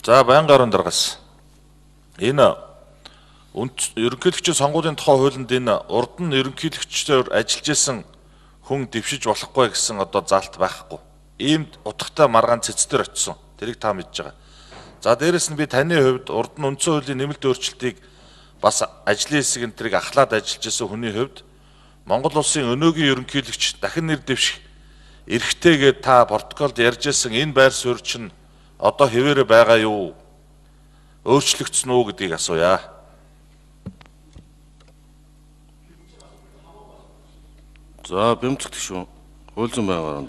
За байнгын орон даргаас энэ ерөнхийлөгчийн сонгуулийн тухай хуулинд энэ урд нь ерөнхийлөгчөөр ажиллаж исэн хүн дэвшиж болохгүй гэсэн одоо заалт байхгүй. Ийм утгатай маргаан цэцтэр очсон. Тэрийг та мэдж байгаа. За дээрэс нь би таны хувьд урд нь үндсэн хуулийн нэмэлт өөрчлөлтийг бас ажлын хэсэг энтрийг ахлаад ажиллаж исэн хүний хувьд Монгол улсын өнөөгийн ерөнхийлөгч дахин нэр дэвших эрхтэйгээ та протоколд ярьж исэн энэ байр суурь чинь одоо хэвээрээ байгаа юу? Өөрчлөгдсөн үү гэдгийг асууя. За бэмцэгдэх шүү. Хууль зүйн байнгын орон.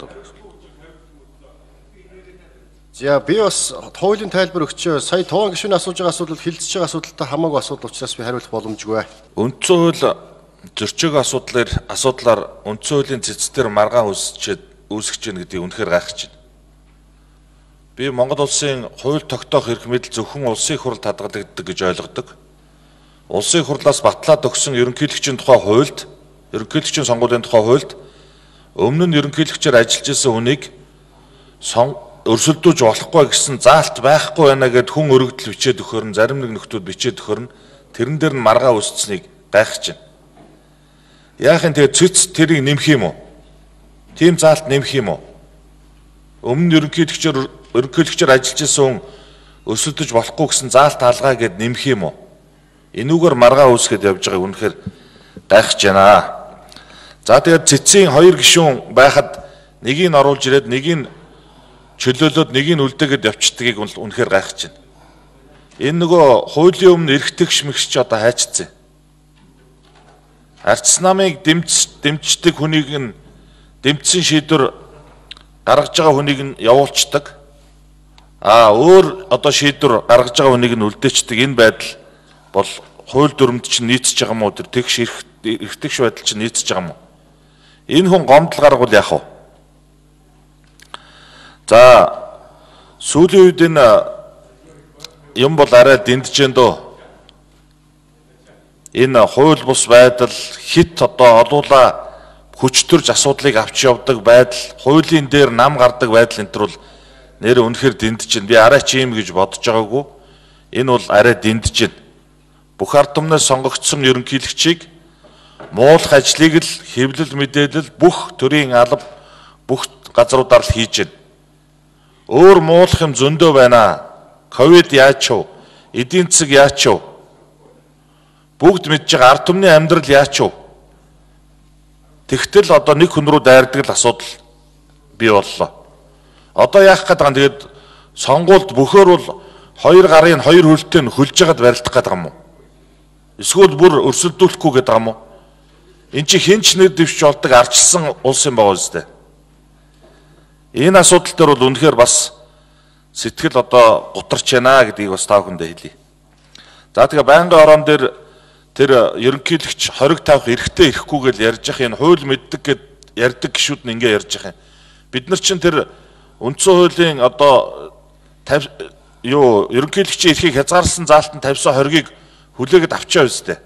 За би бас хуулийн тайлбар өгчөө. Сая тоон гишүүний асууж байгаа асуудал хилцэж байгаа асуудалтай хамаагүй асуудал учраас би хариулах боломжгүй. Үндсэн хууль зөрчөөг асуудлаар үндсэн хуулийн цэцтэр маргаан үүсгэж гэнэ гэдгийг үнэхээр гайхаж байна. Би Монгол улсын хууль тогтоох эрх мэдэл зөвхөн улсын хуралд хадгалагддаг гэж ойлгодог. Улсын хурлаас батлаад өгсөн ерөнхийлөгчийн тухай хуульд, ерөнхийлөгчийн сонгуулийн тухай хуульд өмнө нь ерөнхийлөгчөөр ажиллаж исэн хүнийг өрсөлдөөж болохгүй гэсэн заалт байхгүй байна гэд хүн өргөдөл бичээд өгөхөр нь зарим нэг нөхдүүд бичээд өгөхөр нь тэрэн дээр нь маргаа үүсцнийг гайхаж байна. Яахын тэгээ цэц тэрийг нэмэх юм уу? Тийм заалт нэмэх юм уу? Өмнө ерөнхийлөгчөөр ажиллаж исэн хүн өрсөлдөж болохгүй гэсэн заалт хаалгаа гэд нэмэх юм уу? Энүүгээр маргаа үүсгээд явж байгааг үнэхээр гайхаж байна. За тэгээд цэцийн хоёр гишүүн байхад нэгийг нь оруулж ирээд нэгийг нь чөлөөлөөд нэгийг нь үлдээгээд явцдгийг үнэхээр гайхаж байна. Энэ нөгөө хуулийн өмнө эрхтэгш мэгч одоо хайчцсан. Арчс намыг дэмждэг хүнийг нь дэмжсэн шийдвэр гаргаж байгаа хүнийг нь явуулцдаг. Өөр одоо шийдвэр гаргаж байгаа хүнийг нь үлдээчдэг. Энэ байдал бол хууль дүрмд чинь нийцэж байгаа мó тэр тэгш эрхтэгш байдал чинь нийцэж байгаа мó. Энэ хүн гомдол гаргавал яах вэ? За сүүлийн үед энэ юм бол арай дэндэж дөө. Энэ хууль бус байдал хит одоо олуула хүчтөрж асуудлыг авч явдаг байдал, хуулийн дээр нам гардаг байдал энэ төр бол нэр үнэхээр дэндэж байна. Би арай ч юм гэж бодож байгаагүй. Энэ бол арай дэндэж байна. Бүх ард түмнээс сонгогдсон ерөнхийлөгчийг муулах ажлыг л хэвлэл мэдээлэл бүх төрлийн алба бүх газруудаар л хийж байна. Өөр муулах юм зөндөө байна. Ковид яач вэ? Эдийн засаг яач вэ? Бүгд мэдж байгаа ард түмний амьдрал яач вэ? Тэгтэл одоо нэг хүн рүү дайрдаг л асуудал бий боллоо. Одоо яах гээд байгаа юм? Тэгээд сонгуульд бөхөр бол хоёр гарын хоёр хөлтэй нь хөлж ягаад барилдах гээд байгаа юм уу? Эсвэл бүр өрсөлдүүлэхгүй гээд байгаа юм уу? Энд чи хинч нэр дэвшиж болдог арчилсан улс юм байгаа үстэй. Энэ асуудал дээр бол үнэхээр бас сэтгэл одоо гутарч байна гэдгийг бас та бүхэндээ хэлье. За тэгээ байнгын орон дээр тэр ерөнхийлөгч хориг тавих эрхтэй ирэхгүй гэж ярьж явах энэ хууль мэддэг гэд ярьдаг гişүүд нь ингэ ярьж явах юм. Бид нар чинь тэр үндсэн хуулийн одоо ерөнхийлөгчийн эрхийг хязгаарласан заалтанд тавьсан хоригийг хүлээгээд авчаа үстэй.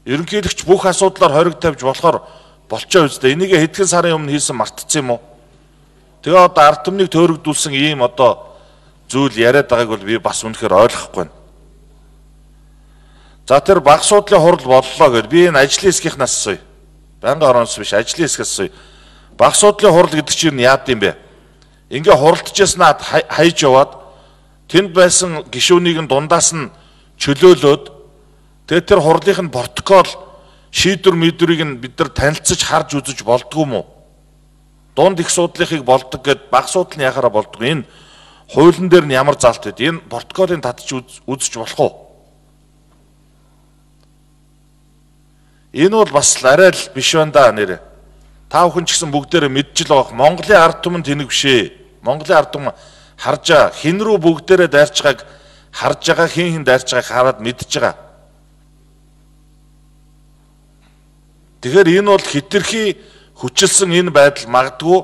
Ерөнхийлөгч бүх асуудлаар хориг тавьж болохоор болчоо үстэй. Энийг хэдхэн сарын өмнө хийсэн мартцсан юм уу? Тэгээ одоо ард түмнийг төөрөгдүүлсэн ийм одоо зүйл яриад байгааг бол би бас үнэхээр ойлгохгүй байна. За тэр баг суудлын хурал боллоо гэд би энэ ажлын хэсгийнхнаас асууя. Байнгын ороноос биш ажлын хэсгээс асууя. Баг суудлын хурал гэдэг чинь яад юм бэ? Ингээ хуралдажснаа хайж яваад тэнд байсан гишүүнийг нь дундаас нь чөлөөлөөд тэгээ тэр хурлын протокол шийдвэр мэдвэрийг нь бид нар танилцаж харж үзэж болдгоо юм уу? Дунд их суудлынхыг болдог гэд баг суудл нь яхаараа болдог. Энэ хуулийн дээр нь ямар заалт вэ? Энэ протоколыг татж үзэж болох уу? Энэ бол бас арай л биш байна да нэрэ. Та бүхэн ч гэсэн бүгдээрээ мэдж л байгаа. Монголын ард түмэн тэнэг бишээ. Монголын ард түмэн харж байгаа. Хин рүү бүгдээрээ дайрч байгааг харж байгаа, хин дайрч байгааг хараад мэдж байгаа. Тэгэхээр энэ бол хитрхи хүчилсэн энэ байдал магадгүй